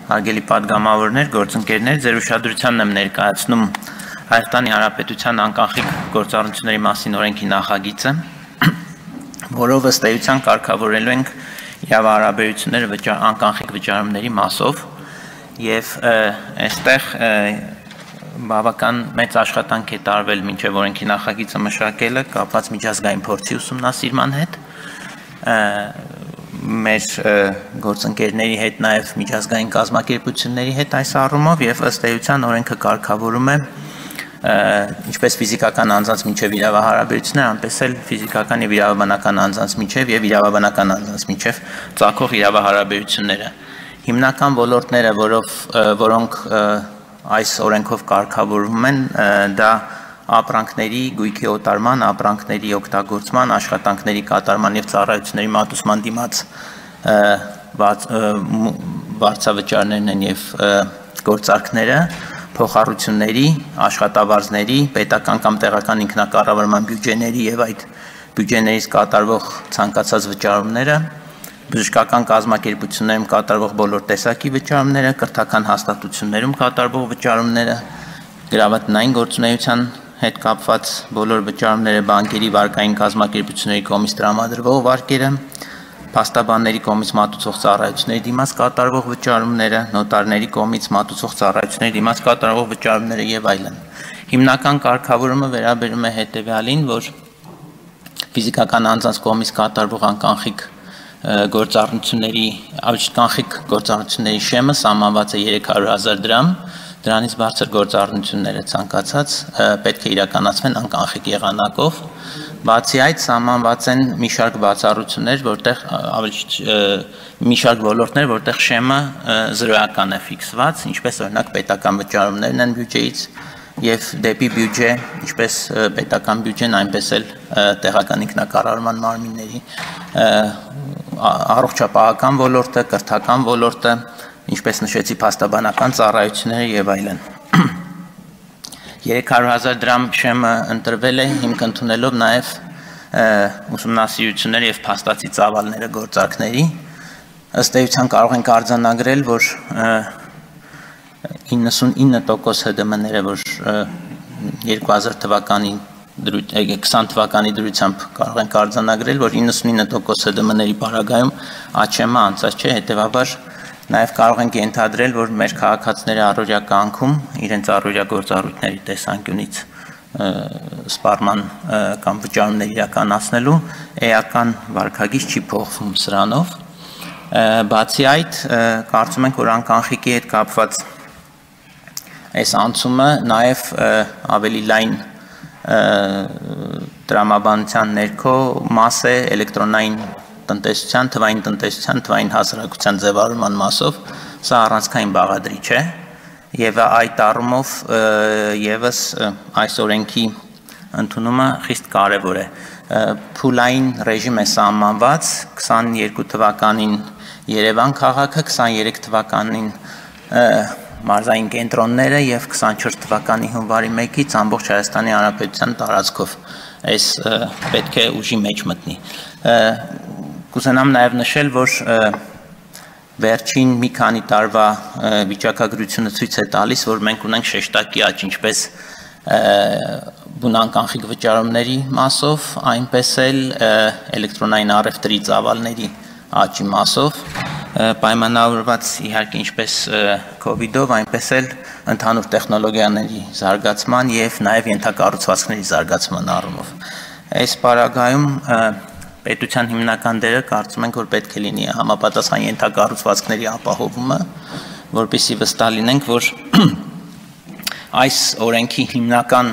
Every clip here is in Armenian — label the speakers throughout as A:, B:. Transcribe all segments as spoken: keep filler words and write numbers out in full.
A: Հարգելի պատգամավորներ, գործընկերներ, ձեր ուշադրությանն եմ ներկայացնում Հայաստանի Հանրապետության անկախիկ գործառույթների մասին օրենքի նախագիծը, որով ըստ էության կարգավորելու ենք իրավահարաբերությունները անկախիկ վճարումների մասով եւ այստեղ բավական մեծ աշխատանք է տարվել մինչեւ օրենքի նախագիծը մշակելը կապված միջազգային փորձի ուսումնասիրման հետ մեր գործընկերների հետ նաև միջազգային կազմակերպությունների հետ այս առումով եւ ըստ էության օրենքը կարգավորում է ինչպես ֆիզիկական անձանց միջև իրավահարաբերություններ, այնպես էլ ֆիզիկական եւ իրավաբանական անձանց միջև եւ իրավաբանական անձանց միջև ծագող իրավահարաբերությունները։ Հիմնական ոլորտները, որով որոնք այս օրենքով կարգավորվում են, դա ապրանքների գույքի օտարման, ապրանքների օգտագործման, աշխատանքների կատարման եւ ծառայությունների մատուցման դիմաց վարձավճարներն են եւ գործարքները, փոխառությունների, աշխատավարձների, պետական կամ տեղական ինքնակառավարման բյուջեների եւ այդ բյուջեներից կատարվող ցանկացած վճարումները, բժշկական կազմակերպություններում կատարվող բոլոր տեսակի վճարումները, կրթական հաստատություններում կատարվող վճարումները, գրավատնային գործունեության հետ կապված բոլոր վճարումները, բանկերի վարկային կազմակերպությունների կողմից տրամադրվող վարկերը, փաստաբանների կողմից մատուցող ծառայությունների դիմաց կատարվող վճարումները, նոտարների կողմից մատուցող ծառայությունների դիմաց կատարվող վճարումները եւ այլն։ Հիմնական կարգավորումը վերաբերում է հետեւյալին, որ ֆիզիկական անձանց կողմից կատարվող անկանխիկ գործառույթների, կանխիկ գործառույթների շեմը սահմանված է երեք հարյուր հազար դրամ, դրանից բարձր գործառույթները ցանկացած պետք է իրականացվեն անկանխիկ եղանակով, բացի այդ սահմանված են մի շարք բացառություններ, որտեղ ավելի մի շարք ոլորտներ, որտեղ շեմը զրոյական է ֆիքսված, ինչպես օրինակ պետական վճարումներն են բյուջեից եւ դեպի բյուջե, ինչպես պետական բյուջեն, այնպես էլ տեղական ինքնակառավարման մարմինների առողջապահական ոլորտը, կրթական ոլորտը, ինչպես նշեցի, փաստաբանական ծառայությունները եւ այլն։ երեք հարյուր հազար դրամ շեմը ընտրվել է հիմք ընդունելով նաեւ ուսումնասիրությունները եւ փաստացի ծավալները գործարքների։ Ըստ էության կարող ենք արձանագրել, որ իննսունինը տոկոս Հ D M-ները, որ երկու հազար թվականի քսան թվականի դրությամբ կարող ենք արձանագրել, որ իննսունինը տոկոս Հ D M-ների պարագայում աճեմը անցած չէ, հետեւաբար նաև կարող ենք ենթադրել, որ մեր քաղաքացիները առօրյա կյանքում իրենց առօրյա գործառույթների տեսանկյունից սպառման կամ վճարումներ իրականացնելու էական վարքագիծ չի փոխվում սրանով։ Բացի այդ, կարծում ենք, որ անկանխիկի հետ կապված այս անցումը նաև ավելի լայն տրամաբանության ներքո մաս է էլեկտրոնային տնտեսության, թվային տնտեսության, թվային հասարակության ձևավորման մասով, սա առանցքային բաղադրիչ է եւ այդ առումով եւս այս օրենքի ընդունումը խիստ կարեւոր է։ Փուլային ռեժիմ է սահմանված քսաներկու թվականին Երևան քաղաքը, քսաներեք թվականին մարզային կենտրոնները եւ քսանչորս թվականի հունվարի մեկից ամբողջ Հայաստանի Հանրապետության տարածքով այս պետք է ուժի մեջ մտնի։ Կուզենամ նաև նշել, որ վերջին մի քանի տարվա վիճակագրությունը ցույց է տալիս, որ մենք ունենք շեշտակի աճ ինչպես բունանկանխիկ վճարումների մասով, այնպես էլ էլեկտրոնային առևտրի ծավալների աճի մասով, պայմանավորված իհարկե ինչպես քովիդով, այնպես էլ ընդհանուր տեխնոլոգիաների զարգացման եւ նաեւ ենթակառուցվածքների զարգացման առումով։ Այս պարագայում պետության հիմնական դերը կարծում ենք, որ պետք է լինի համապատասխան ենթակառուցվածքների ապահովումը, որպեսզի վստահ լինենք, որ այս օրենքի հիմնական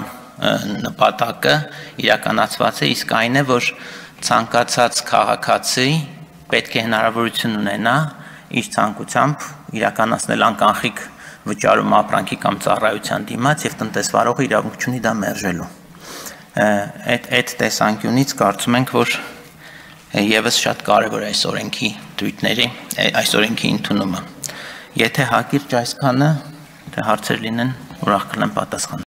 A: նպատակը իրականացված է, իսկ այն է, որ ցանկացած քաղաքացի պետք է հնարավորություն ունենա իր ցանկությամբ իրականացնել անկանխիկ վճարում ապրանքի կամ ծառայության դիմաց եւ տնտեսվարողը իրավունք ունի դա մերժելու։ Այդ այդ տեսանկյունից կարծում ենք, որ եւս շատ կարեւոր է այս օրենքի դույթների, այս օրենքի ընդունումը։ Եթե հակիրճ այսքանը, եթե հարցեր լինեն, ուրախ կլինեմ պատասխանել։